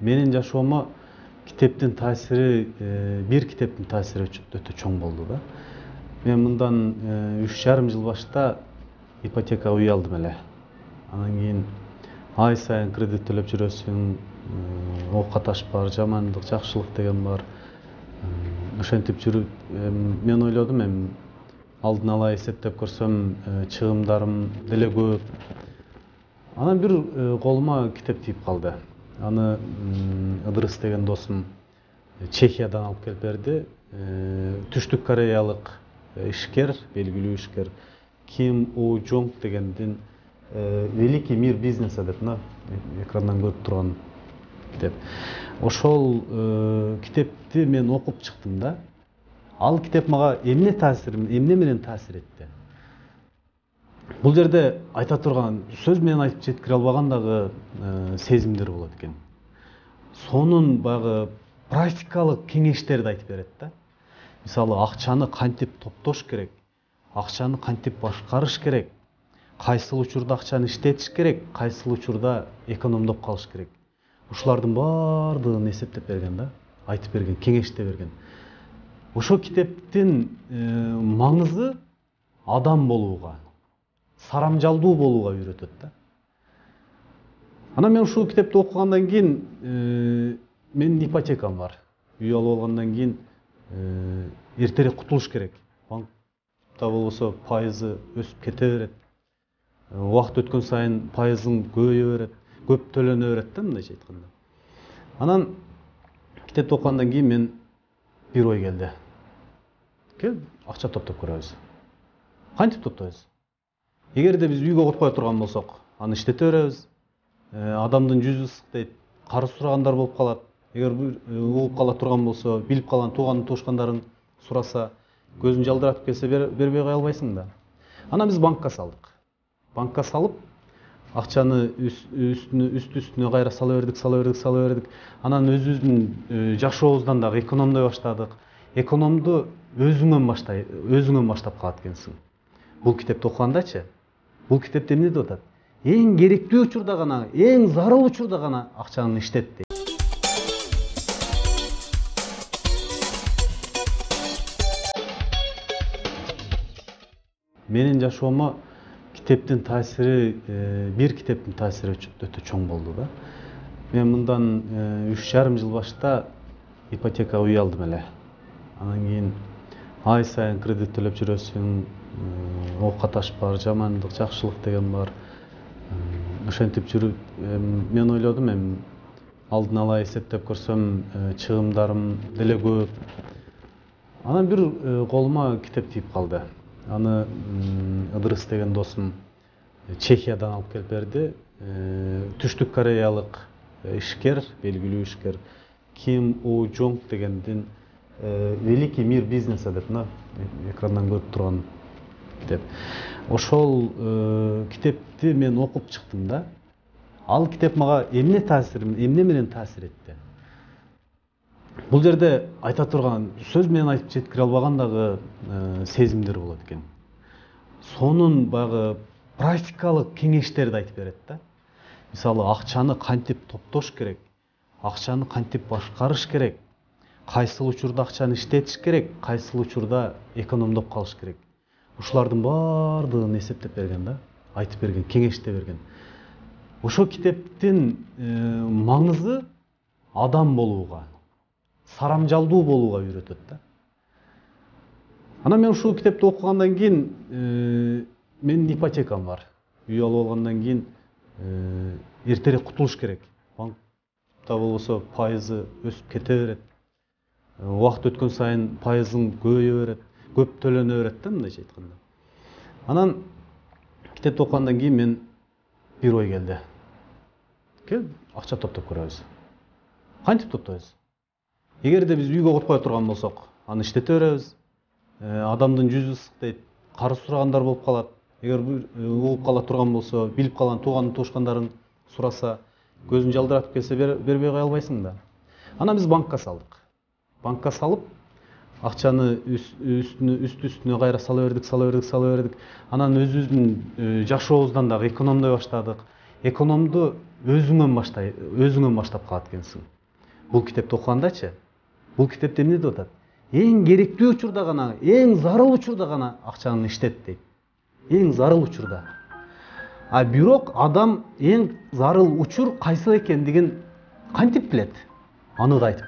Менин жашоомо китептин таасири, бир китептин таасири өтө чоң болду да. Мен мындан 3,5 жыл башта ипотека үй алдым эле. Анан кийин ай сайын кредит төлөп жүрөсүң, оокат бар, жамандык, жакшылык деген бар. Ошентип жүрүп, мен ойлодум, алдын ала эсептеп көрсөм, чыгымдарым деле көп. Анан бир колума китеп тийип калды. Аны Ыдырыс деген досум Чехиядан алып келип берди. Түштүк кореялык ишкер, белгилүү ишкер Ким У Жонг дегендин Великий мир бизнеса деп экрандан көрүп турган китеп. Ошол китепти мен окуп чыктым да. Ал китеп мага эмне менен таасир этти? Бул жерде айта турган, сөз менен айтып жеткире албаган дагы сезимдер болот экен. Сонун багы практикалык кеңештерди айтып берет да. Мисалы, акчаны кантип топтош керек, акчаны кантип башкарыш керек, кайсыл учурда акчаны иштетиш керек, кайсыл учурда экономдоп калыш керек. Ушулардын баардыгын эсептеп берген да, айтып берген, кеңеште берген. Ошол китептин маңызы адам болууга, сарамжалдуу болууга үйрөтөт да. Анан мен ушул китепти окугандан кийин менин ипотекам бар. Үй алып алгандан кийин эртерээк кутулуш керек. Банкта болбосо пайызы өсүп кете берет. Убакыт өткөн сайын пайызың көбөйө берет, көп төлөнө берет да, мындайча айтканда. Анан китепти окугандан кийин мен бир ой келди. Кел, акча топтоп көрөбүз. Кантип топтойбуз? Эгерде биз үйгө котпой турган болсок, аны иштете беребиз. Адамдын жүзү ысык дейт, карыз сурагандар болуп калат. Эгер угуп кала турган болсо, билип калган туугандарың сураса, көзүң жалдыратып келсе бербей кое албайсың да. Анан биз банкка салдык. Банкка салып, акчаны үстүнө кайра сала бердик. Анан өзүбүздүн жашообуздан дагы экономдой баштадык. Экономду өзүңөн баштап калат экенсиң. Бул китепти окугандачы, бул китепте эмне деп атат? Эң керектүү учурда гана, эң зарыл учурда гана акчаны иштет дейт. Менин жашоомо китептин таасири, бир китептин таасири өтө чоң болду да. Мен мындан 3,5 жыл башта ипотека үй алдым эле. Анан кийин ай сайын кредит төлөп жүрөсүң, оокат бар, жамандык, жакшылык деген бар. Ошентип жүрүп, мен ойлодум, алдын ала эсептеп көрсөм, чыгымдарым деле көп. Анан бир колума китеп тийип калды. Аны Ыдырыс деген досум Чехиядан алып келип берди. Түштүк кореялык ишкер, белгилүү ишкер Ким У Жонг дегендин Великий мир бизнеса деп экрандан көрүп турган китеп. Ошол китепти мен окуп чыктым да. Ал китеп мага эмне менен таасир этти? Бул жерде айта турган, сөз менен айтып жеткире албаган дагы сезимдер болот экен. Сонун багы практикалык кеңештерди айтып берет да. Мисалы, акчаны кантип топтош керек, акчаны кантип башкарыш керек, кайсыл учурда акчаны иштетиш керек, кайсыл учурда экономдоп калыш керек. Ушулардын баардыгын эсептеп берген да, айтып берген, кеңеште берген. Ошол китептин маңызы адам болууга, сарамжалдуу болууга үйрөтөт да. Анан мен ушул китепти окугандан кийин менин ипотекам бар. Үй алып алгандан кийин эртерээк кутулуш керек. Банкта болбосо пайызы өсүп кете берет. Убакыт өткөн сайын пайызың көбөйө берет, көп төлөнө берет да, мындайча айтканда. Анан китепти окугандан кийин мен бир ой келди. Кел, акча топтоп көрөбүз. Кантип топтойбуз? Эгерде биз үйгө котпой турган болсок, аны иштете беребиз. Адамдын жүзү ысык дейт, карыз сурагандар болуп калат. Эгер угуп кала турган болсо, билип калган туугандарың сураса, көзүң жалдыратып келсе бербей кое албайсың да. Анан биз банкка салдык. Банкка салып, акчаны үстүнө кайра сала бердик. Анан өзүбүздүн жашообуздан дагы экономдой баштадык. экономду өзүңөн баштап калат экенсиң. Бул китепти окугандачы, бул китепте эмне деп атат? Эң керектүү учурда гана, эң зарыл учурда гана акчаны иштет дейт. Эң зарыл учурда. А бирок адам эң зарыл учур кайсы экендигин кантип билет? Аны да айтып